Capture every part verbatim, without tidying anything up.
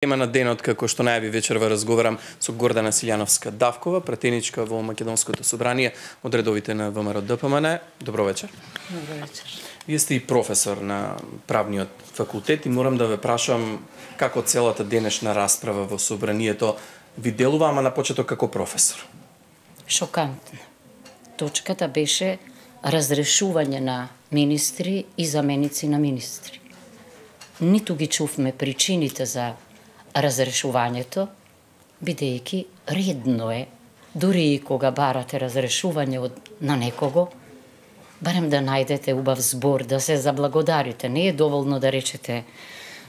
Тема на денот, како што најави вечерва разговарам со Гордана Силјановска-Давкова, пратеничка во Македонското собрание од редовите на ВМРО Д П М Н. Добро вечер. Добро вечер. Вие сте и професор на правниот факултет и морам да ве прашам како целата денешна расправа во собранието ви делува, ама на почеток како професор. Шокантно. Точката беше разрешување на министри и заменици на министри. Ниту ги чувме причините за разрешувањето, бидејќи редно е, дури и кога барате разрешување од, на некого, барем да најдете убав збор, да се заблагодарите. Не е доволно да речете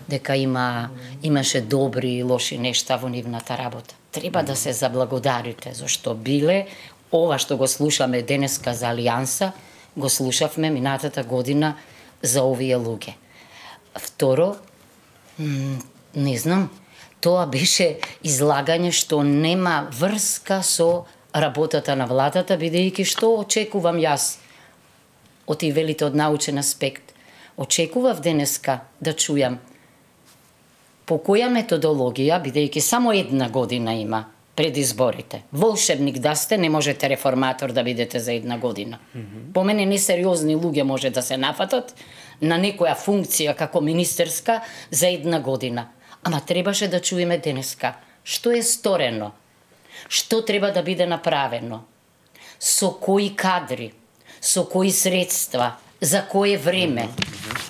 дека има, имаше добри и лоши нешта во нивната работа. Треба да се заблагодарите, зашто биле ова што го слушаме денеска за Алијанса, го слушавме минатата година за овие луѓе. Второ, не знам, тоа беше излагање што нема врска со работата на владата, бидејќи што очекувам јас од и велите од научен аспект. Очекував денеска да чујам по која методологија, бидејќи само една година има пред изборите. Волшебник да сте, не можете реформатор да бидете за една година. Mm-hmm. По мене несериозни луѓе може да се нафатат на некоја функција како министерска за една година. Ама требаше да чуеме денеска што е сторено, што треба да биде направено, со кои кадри, со кои средства, за кое време,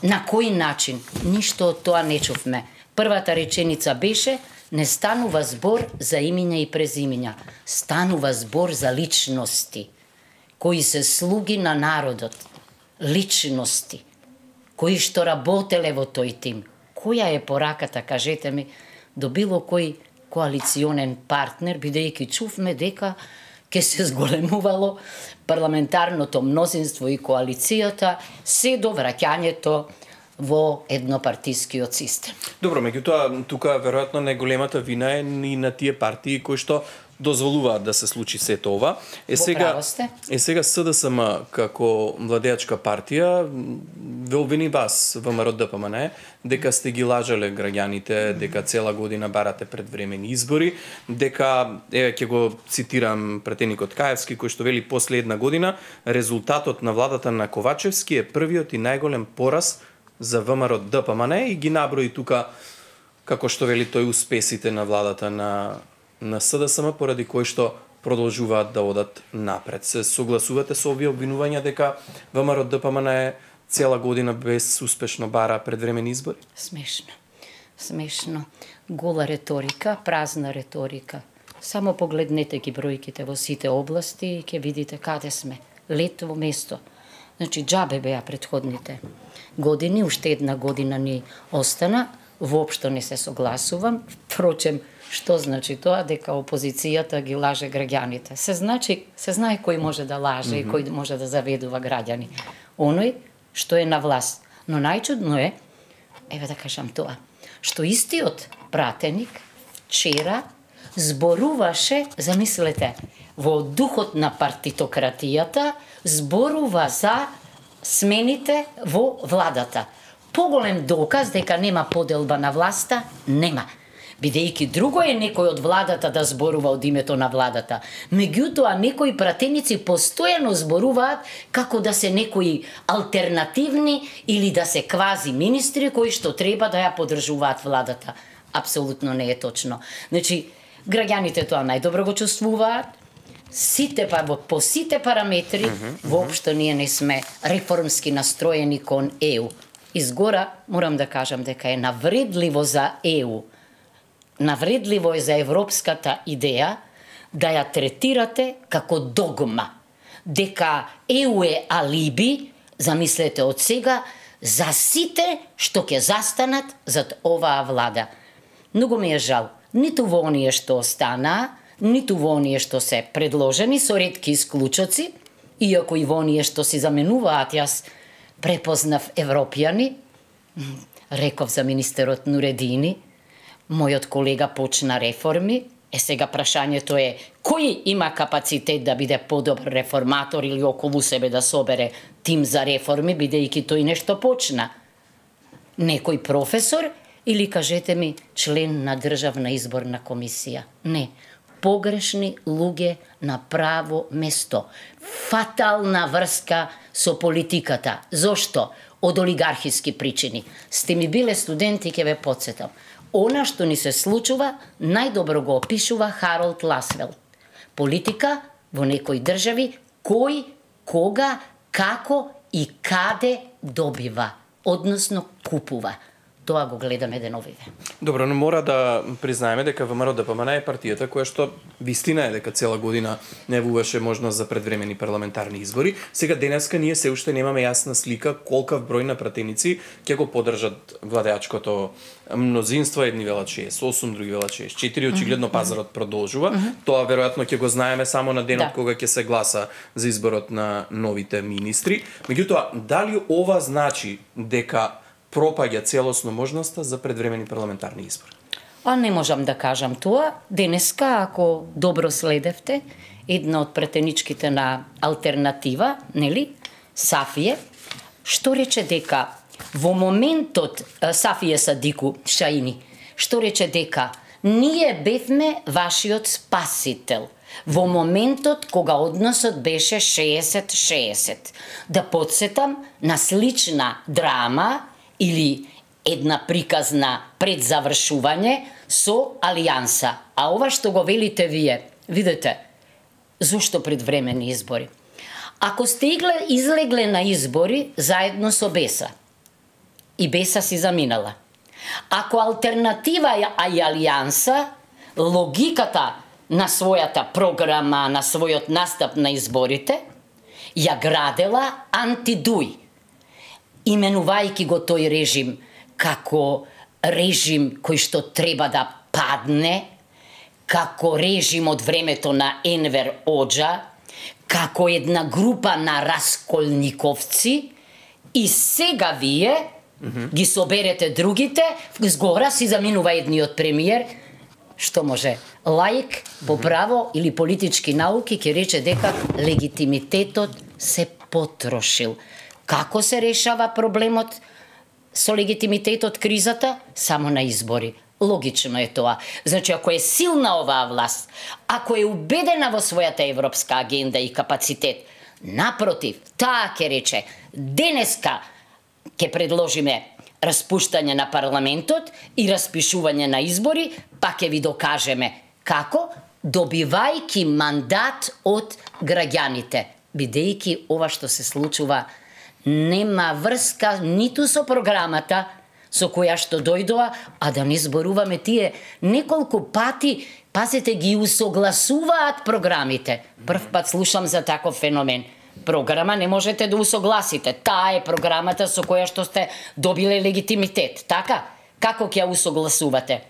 на кој начин. Ништо од тоа не чувме. Првата реченица беше: не станува збор за имиња и презимиња, станува збор за личности, кои се слуги на народот, личности, кои што работеле во тој тим. Која е пораката, кажете ми, до било кој коалиционен партнер, бидејќи чувме дека ќе се зголемувало парламентарното мнозинство и коалицијата се до враќањето во еднопартискиот систем. Добро, меѓутоа, тука веројатно најголемата вина е и на тие партии кои што дозволуваат да се случи сето ова. Е сега, е сега С Д С М како владеачка партија ве обвини вас, ВМРО Д П М Н, дека сте ги лажале граѓаните, дека цела година барате предвремени избори, дека, еве ќе го цитирам пратеникот Каевски, кој што вели: после една година резултатот на владата на Ковачевски е првиот и најголем пораз за ВМРО Д П М Н, и ги наброи тука, како што вели тој, успесите на владата на на С Д С М, поради кои што продолжуваат да одат напред. Се согласувате со овие обвинувања дека ВМРО Д П М Н е цела година без успешно бара предвремени избори? Смешно. Смешно. Гола реторика, празна реторика. Само погледнете ги бројките во сите области и ќе видите каде сме. Лет во место. Значи, џабе беа претходните години, уште една година ни остана, воопшто не се согласувам. Впрочем, што значи тоа? Дека опозицијата ги лаже граѓаните. Се значи, се знае кој може да лаже mm-hmm. и кој може да заведува граѓани. Оној што е на власт. Но најчудно е, еве да кажам тоа, што истиот пратеник вчера зборуваше, замислете, во духот на партитократијата, зборува за смените во владата. Поголем доказ дека нема поделба на власта, нема. Бидејќи друго е некој од владата да зборува од името на владата. Меѓутоа, некои пратеници постојано зборуваат како да се некои алтернативни или да се квази министри кои што треба да ја поддржуваат владата. Апсолутно не е точно. Значи, граѓаните тоа најдобро го чувствуваат. Сите па во по сите параметри, mm-hmm, воопшто ние не сме реформски настроени кон Е У. Изгора морам да кажам дека е навредливо за Е У. Навредливо е за европската идеја да ја третирате како догма. Дека Е У е алиби, замислете од сега, за сите што ќе застанат зад оваа влада. Многу ми е жал, ниту во оние што останаа, ниту во оние што се предложени, со ретки исклучоци, иако и во оние што си заменуваат, јас препознав европјани, реков за министерот Нуредини, мојот колега почна реформи, е сега прашањето е кој има капацитет да биде подобар реформатор или околу себе да собере тим за реформи, бидејќи тој нешто почна. Некој професор Или кажете ми член на Државна изборна комисија. Не. Погрешни луѓе на право место. Фатална врска со политиката. Зошто? Од олигархиски причини. Сте ми биле студенти, ќе ве подсетам. Она што ни се случува, најдобро го опишува Харолд Ласвел. Политика во некои држави, кој, кога, како и каде добива, односно купува. Тоа го гледаме деновиве. Добро, но мора да признаеме дека ВМРО Д П М Н е партијата која што вистина е дека цела година не вуваше можност за предвремени парламентарни избори. Сега денеска ние се уште немаме јасна слика колкав број на пратеници ќе го поддржат владеачкото мнозинство, едни велат шеесет и осум, други велат шеесет и четири, очигледно пазарот продолжува. Mm-hmm. Тоа веројатно ќе го знаеме само на денот да. Кога ќе се гласа за изборот на новите министри. Меѓутоа, дали ова значи дека пропаѓа целосно можноста за предвремени парламентарни избори? А не можам да кажам тоа. Денеска, ако добро следевте, една од претеничките на алтернатива, нели, Сафие, што рече дека во моментот, Сафие Садику Шаини, што рече дека ние бевме вашиот спасител во моментот кога односот беше шеесет шеесет. Да подсетам на слична драма или една приказна пред завршување со Алијанса. А ова што го велите вие, видете, зошто предвремени избори? Ако сте излегле на избори заедно со Беса, и Беса си заминала, ако алтернатива а и Алијанса, логиката на својата програма, на својот настап на изборите, ја градела антидуј, именувајќи го тој режим како режим кој што треба да падне, како режим од времето на Енвер Оџа, како една група на расколниковци, и сега вие mm-hmm. ги соберете другите, згора си заминува едниот премиер, што може лаик по право или политички науки ќе рече дека легитимитетот се потрошил. Како се решава проблемот со легитимитетот, кризата? Само на избори. Логично е тоа. Значи, ако е силна оваа власт, ако е убедена во својата европска агенда и капацитет, напротив, таа ќе рече, денеска ќе предложиме распуштање на парламентот и распишување на избори, па ќе ви докажеме како, добивајќи мандат од граѓаните, бидејќи ова што се случува нема врска ниту со програмата со која што дојдоа, а да не зборуваме тие неколку пати, пазете, ги усогласуваат програмите. Прв пат слушам за таков феномен. Програма не можете да усогласите. Таа е програмата со која што сте добиле легитимитет. Така? Како ќе ја усогласувате?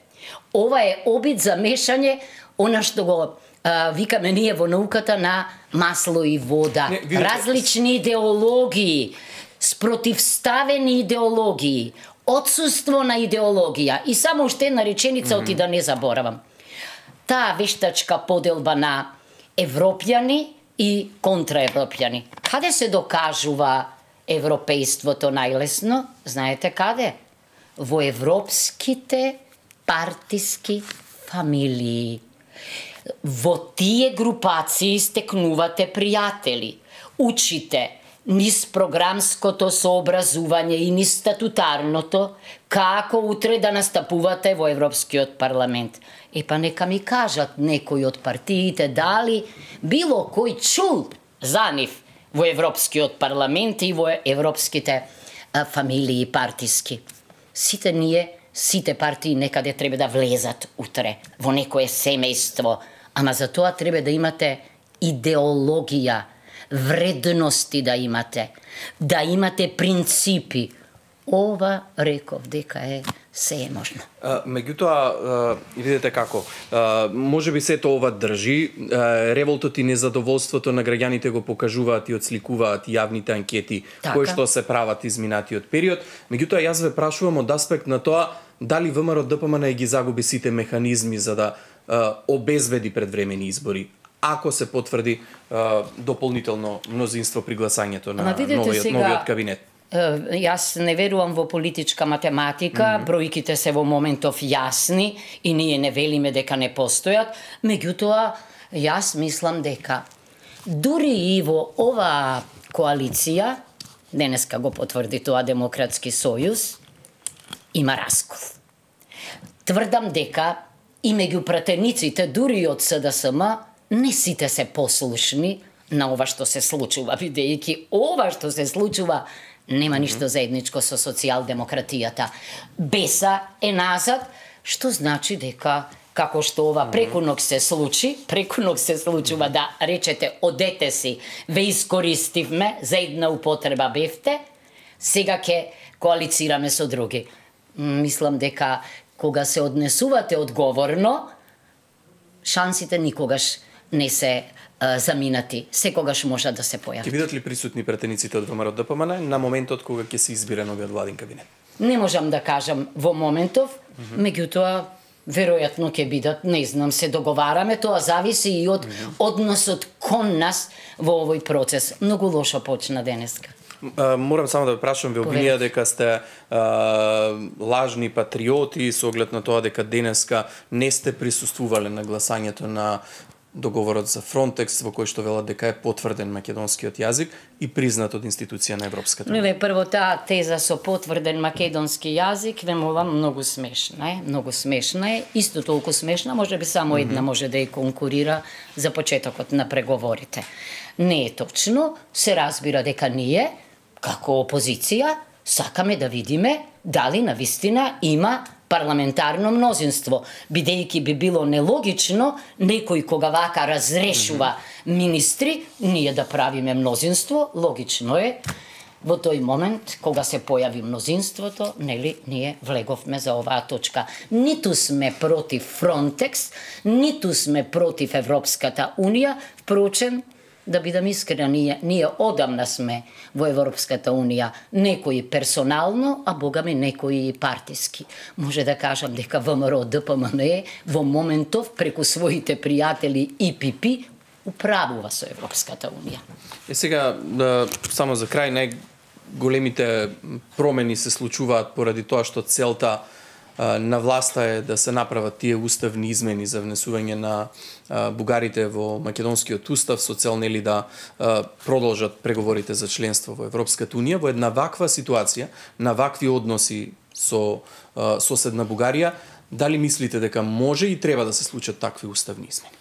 Ова е обид за мешање, она што го а, викаме ние во науката на масло и вода. Не, видите... Различни идеологии, спротивставени идеологии, отсуство на идеологија. И само уште една реченица, mm-hmm. оти да не заборавам. Таа вештачка поделба на европјани и контраевропјани. Каде се докажува европејството најлесно? Знаете каде? Во европските партиски фамилии. Во тие групации стекнувате пријатели, учите низ програмското сообразување и низ статутарното, како утре да настапувате во Европскиот парламент. Е па нека ми кажат некои од партиите дали било кој чул за нив во Европскиот парламент и во европските а, фамилии партиски. Сите ние, сите партии некаде треба да влезат утре во некое семејство, ама за тоа треба да имате идеологија, вредности да имате, да имате принципи. Ова реков дека е се е можно. А, меѓутоа, видите како, а, може би сето ова држи, а, револтот и незадоволството на граѓаните го покажуваат и отсликуваат јавните анкети така. Кои што се прават изминатиот период. Меѓутоа, јас ве прашувам од аспект на тоа дали ВМРО Д П М Н ги загуби сите механизми за да а, обезведи предвремени избори, ако се потврди а, дополнително мнозинство при гласањето на новиот, сега... новиот кабинет. Јас не верувам во политичка математика, mm -hmm. бројките се во моментов јасни и ние не велиме дека не постојат, меѓутоа јас мислам дека дури и во оваа коалиција, денеска го потврди тоа Демократски сојуз, има раскол. Тврдам дека и меѓу пратениците, дури и од С Д С М, не сите се послушни на ова што се случува, бидејќи ова што се случува нема ништо заедничко со социјалдемократијата. Беса е назад, што значи дека како што ова преку ног се случи, преку ног се случува да речете одете си, ве искористивме, за една употреба бевте, сега ќе коалицираме со други. Мислам дека кога се однесувате одговорно, шансите никогаш не се а, заминати. Секогаш може да се појават. Ќе бидат ли присутни пратениците од ВМРО Д П М Н на моментот кога ќе се избере новиот владин кабинет? Не можам да кажам во моментов, mm -hmm. меѓутоа веројатно ќе бидат, не знам, се договараме, тоа зависи и од mm -hmm. односот кон нас во овој процес. Многу лошо почна денеска. Uh, морам само да прашам, ве обвинија дека сте uh, лажни патриоти со оглед на тоа дека денеска не сте присуствувале на гласањето на договорот за Фронтекс, во кој што велат дека е потврден македонскиот јазик и признат од институција на Европската унија. Не, прво таа теза со потврден македонски јазик, вемувам многу смешна е, многу смешна е, исто толку смешна, можеби само една mm -hmm. може да ја конкурира за почетокот на преговорите. Не е точно, се разбира дека ние како опозиција сакаме да видиме дали навистина има парламентарно мнозинство, бидејќи би било нелогично некој кога вака разрешува mm -hmm. министри, ние да правиме мнозинство, логично е во тој момент кога се појави мнозинството, нели ние влеговме за оваа точка. Ниту сме против Фронтекс, ниту сме против Европската унија, впрочем, да бидам искрена, ние, ние одамна сме во Европската унија, некои персонално, а богами некои партиски. Може да кажам дека ВМРО Д П М Н во моментов преку своите пријатели И П П управува со Европската унија. Е сега, да, само за крај, најголемите промени се случуваат поради тоа што целта на власта е да се направат тие уставни измени за внесување на бугарите во македонскиот устав со цел нели да продолжат преговорите за членство во Европската унија. Во една ваква ситуација, на вакви односи со соседна Бугарија, дали мислите дека може и треба да се случат такви уставни измени?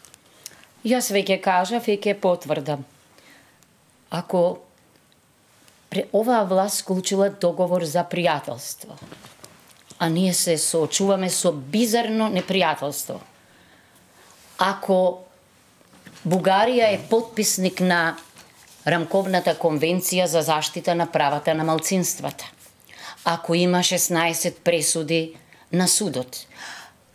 Јас веќе кажав и ќе потврдам. Ако оваа власт склучила договор за пријателство, а ние се соочуваме со бизарно непријателство. Ако Бугарија е потписник на Рамковната конвенција за заштита на правата на малцинствата, ако има шеснаесет пресуди на судот,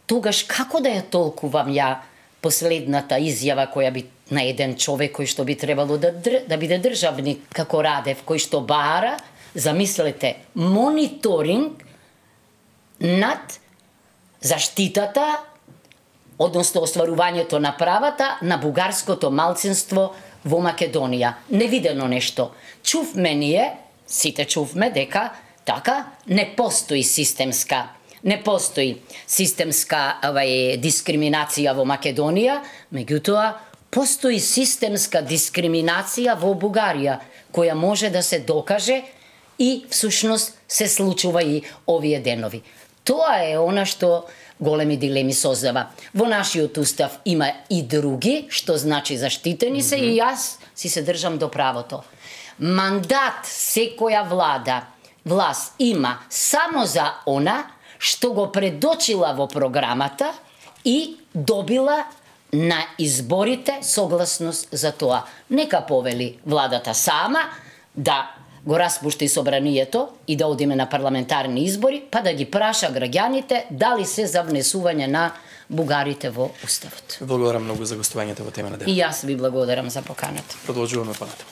тогаш како да ја толкувам ја последната изјава која би на еден човек кој што би требало да, да биде државник како Радев, кој што бара, замислете, мониторинг над заштитата, односно остварувањето на правата на бугарското малцинство во Македонија. Невидено нешто. Чувме ние, сите чувме дека така не постои системска не постои системска авај, дискриминација во Македонија, меѓутоа постои системска дискриминација во Бугарија, која може да се докаже и всушност се случува и овие денови. Тоа е она што големи дилеми создава. Во нашиот устав има и други, што значи заштитени се, mm -hmm. и јас си се држам до правото. Мандат секоја влада, власт има само за она што го предочила во програмата и добила на изборите согласност за тоа. Нека повели владата сама да го распушти собранието и да одиме на парламентарни избори, па да ги праша граѓаните дали се за внесување на бугарите во уставот. Благодарам многу за гостувањето во тема на ден. И јас ви благодарам за поканата. Продолжуваме понатаму.